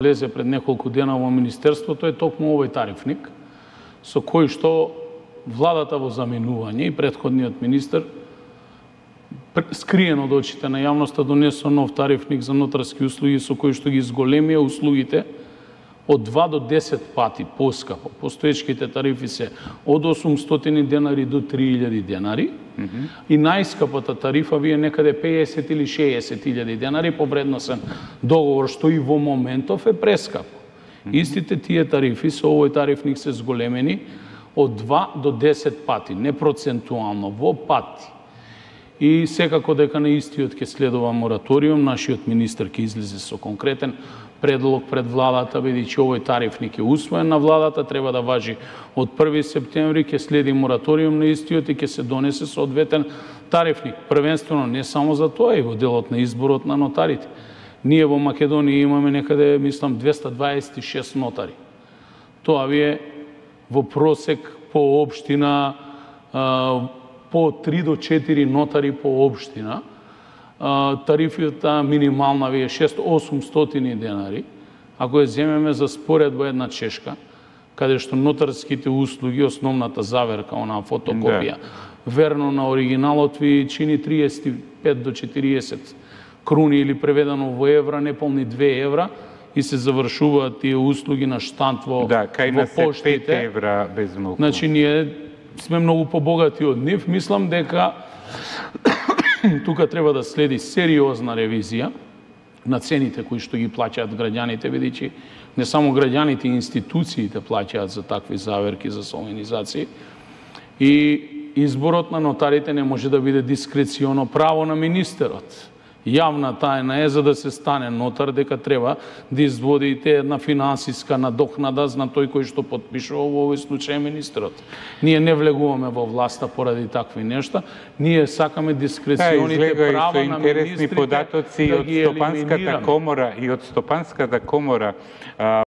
влезе пред неколку дена во Министерството е токму овој тарифник, со кој што владата во заменување и претходниот министер скриен од очите на јавноста донесо нов тарифник за нотарски услуги со кој што ги зголемија услугите од 2 до 10 пати поскапо. Постоечките тарифи се од 800 денари до 3000 денари и најскапата тарифа ви е некаде 50 или 60.000 денари по вредносен договор, што и во моментов е прескапо. Истите тие тарифи со овој тарифник се зголемени од 2 до 10 пати, не процентуално, во пати. И секако дека на истиот ќе следува мораториум, нашиот министер ќе излезе со конкретен предлог пред владата, бидејќи овој тарифник е усвоен на владата, треба да важи од 1 септември, ќе следи мораториум на истиот и ќе се донесе соодветен тарифник. Првенствено не само за тоа, и во делот на изборот на нотарите. Ние во Македонија имаме некаде, мислам, 226 нотари. Тоа ви е во просек по општина по 3 до 4 нотари по општина. Тарифата минимална ви е 600-800 денари. Ако ја земеме за споредба една Чешка, каде што нотарските услуги, основната заверка, онаа фотокопија, верно на оригиналот ви чини 35 до 40 круни или преведено во евра, неполни 2 евра, и се завршуваат тие услуги на штамп во поштите. 5 евра без многу. Значи, ние сме многу побогати од нив. Мислам дека тука треба да следи сериозна ревизија на цените кои што ги плаќаат граѓаните, бидејќи не само граѓаните и институциите плаќаат за такви заверки, за солемнизации. И изборот на нотарите не може да биде дискреционо право на министерот. Јавна тајна е, за да се стане нотар, дека треба да изводите една финансиска надокнада на тој кој што потпишува, во овој случај министерот. Ние не влегуваме во власта поради такви нешта, ние сакаме дискреционите права на министрите податоци да ги елиминираме. И од Стопанската комора